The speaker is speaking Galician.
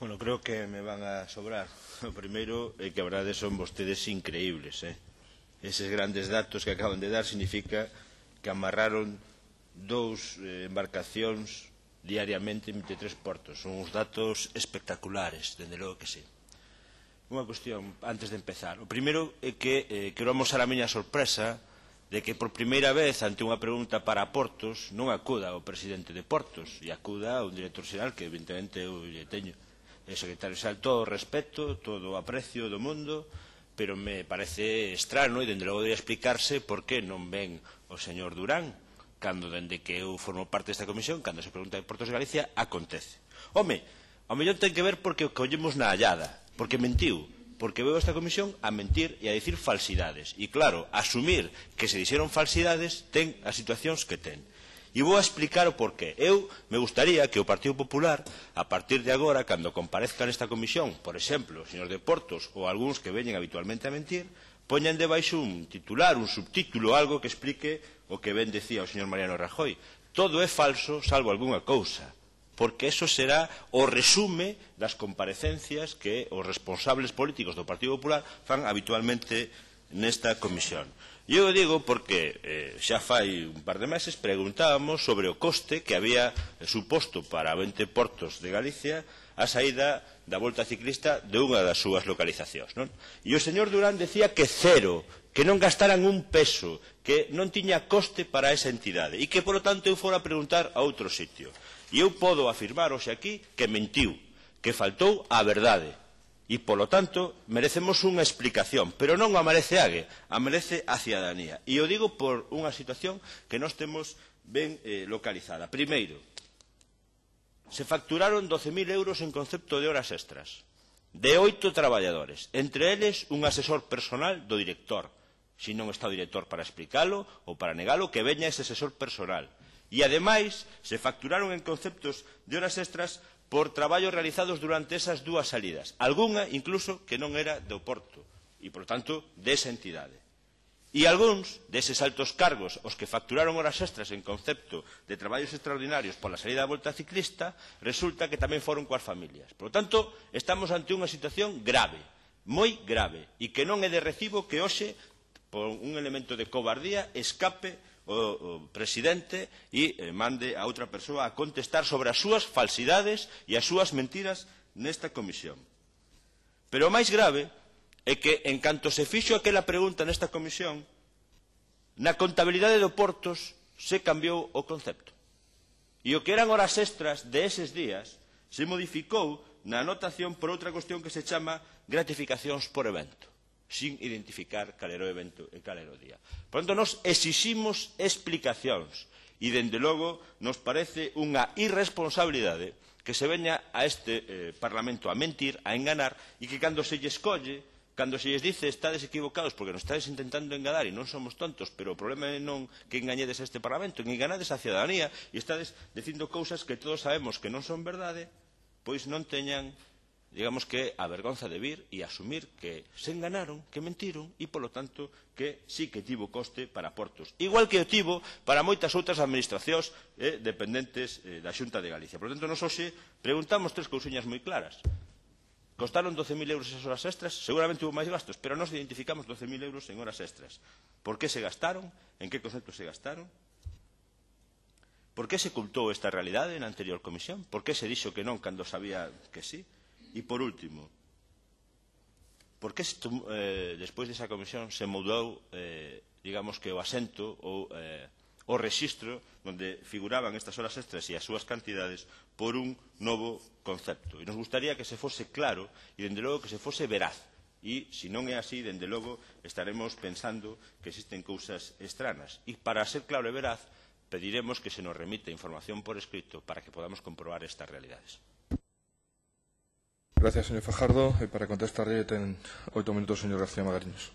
Bueno, creo que me van a sobrar. O primeiro é que a verdade son vostedes increíbles. Eses grandes datos que acaban de dar significa que amarraron dous embarcacións diariamente en 23 portos. Son uns datos espectaculares, dende logo que sí. Unha cuestión antes de empezar. O primeiro é que quero amosar a miña sorpresa de que por primeira vez ante unha pregunta para Portos non acuda o presidente de Portos e acuda un director xeral que evidentemente eu lle teño. O secretario xeral, todo o respeto, todo o aprecio do mundo, pero me parece extraño e dende logo debería explicarse por que non ven o señor Durán cando dende que eu formo parte desta comisión, cando se pregunta de Portos de Galicia, acontece. Home, ao mellor ten que ver porque o collemos na hallada, porque mentiu, porque veo esta comisión a mentir e a dicir falsidades. E claro, asumir que se dixeron falsidades ten as situacións que ten. E vou a explicar o porqué. Eu me gustaría que o Partido Popular, a partir de agora, cando comparezca nesta comisión, por exemplo, os señores de Portos ou algúns que veñen habitualmente a mentir, poñan debaixo un titular, un subtítulo, algo que explique o que ben decía o señor Mariano Rajoy. Todo é falso, salvo algunha cousa, porque eso será o resume das comparecencias que os responsables políticos do Partido Popular fan habitualmente nesta comisión. E eu digo porque xa fai un par de meses preguntábamos sobre o coste que había suposto para 20 portos de Galicia a saída da volta ciclista de unha das súas localizacións, non? E o señor Durán decía que cero, que non gastaran un peso, que non tiña coste para esa entidade e que, polo tanto, eu fora a preguntar a outro sitio. E eu podo afirmar hoxe aquí que mentiu, que faltou a verdade. E, polo tanto, merecemos unha explicación, pero non a merece Ague, a merece a cidadanía. E o digo por unha situación que nós temos ben localizada. Primeiro, se facturaron 12.000 euros en concepto de horas extras, de 8 traballadores, entre eles un asesor personal do director. Se non está o director para explicalo ou para negalo, que veña ese asesor personal. E, ademais, se facturaron en conceptos de horas extras por traballos realizados durante esas dúas salidas. Algunha, incluso, que non era do Porto e, por tanto, desa entidade. E algúns deses altos cargos, os que facturaron horas extras en concepto de traballos extraordinarios pola saída da volta ciclista, resulta que tamén foron coas familias. Por lo tanto, estamos ante unha situación grave, moi grave, e que non é de recibo que hoxe, por un elemento de cobardía, escape o presidente e mande a outra persoa a contestar sobre as súas falsidades e as súas mentiras nesta comisión. Pero o máis grave é que, en canto se fixo aquela pregunta nesta comisión, na contabilidade do Portos se cambiou o concepto. E o que eran horas extras de eses días se modificou na anotación por outra cuestión que se chama gratificacións por evento, sin identificar cal era o evento e cal era o día. Por tanto, nos exiximos explicacións e, dende logo, nos parece unha irresponsabilidade que se veña a este Parlamento a mentir, a enganar, e que cando se lles colle, cando se lles dice estades equivocados porque nos estades intentando enganar e non somos tontos, pero o problema é non que engañedes a este Parlamento, que enganades a cidadanía e estades dicindo cousas que todos sabemos que non son verdade, pois non teñan, digamos que, a vergonza de vir e asumir que se enganaron, que mentiron e, polo tanto, que sí que tivo coste para Portos. Igual que o tivo para moitas outras administracións dependentes da Xunta de Galicia. Por tanto, nos hoxe preguntamos tres cousiñas moi claras. Costaron 12.000 euros esas horas extras? Seguramente hubo máis gastos, pero nós identificamos 12.000 euros en horas extras. Por que se gastaron? En que concepto se gastaron? Por que se ocultou esta realidade na anterior comisión? Por que se dixo que non cando sabía que sí? E, por último, por que despois desa comisión se mudou, digamos que o asento ou o rexistro onde figuraban estas horas extras e as súas cantidades por un novo concepto? E nos gustaría que se fose claro e, dende logo, que se fose veraz. E, se non é así, dende logo, estaremos pensando que existen cousas extranas. E, para ser claro e veraz, pediremos que se nos remita información por escrito para que podamos comprobar estas realidades. Gracias, señor Fajardo. Para contestarle ten 8 minutos, señor García Magariños.